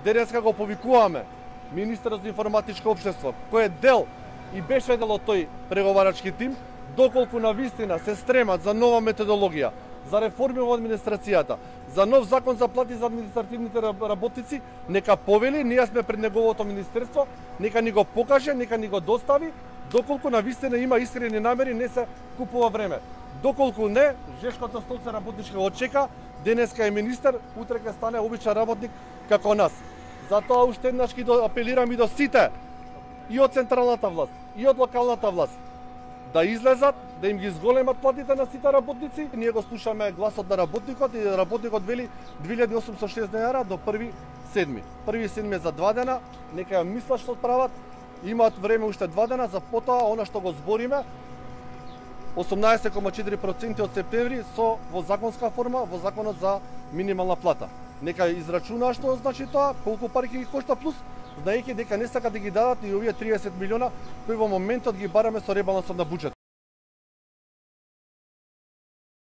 денеска го повикуваме министерот за информатичко општество, кој е дел и беше дел од тој преговарачки тим, доколку на вистина се стремат за нова методологија, за реформи во администрацијата, за нов закон за плати за административните работници, нека повели, ние сме пред неговото министерство, нека ни го покаже, нека ни го достави, доколку на вистина има искрени намери, не се купува време. Доколку не, Жешкото столце работничка очека, денеска е министер, утре ќе стане обичен работник како нас. Затоа уште еднаш ги апелирам и до сите, и од централната власт, и од локалната власт, да излезат, да им ги зголемат платите на сите работници. Ние го слушаме гласот на работникот и работникот вели 2860 денари до 1.7. 1.7 за 2 дена, нека ја мислат што прават, имаат време уште 2 дена, за потоа она што го збориме, 18,4% од септември со во законска форма, во законот за минимална плата. Нека израчуна што значи тоа, колку пари ќе ги кошта плюс, знаејќи дека не сакат да ги дадат и овие 30 милиона кои во моментот ги бараме со ребалансот на буџет.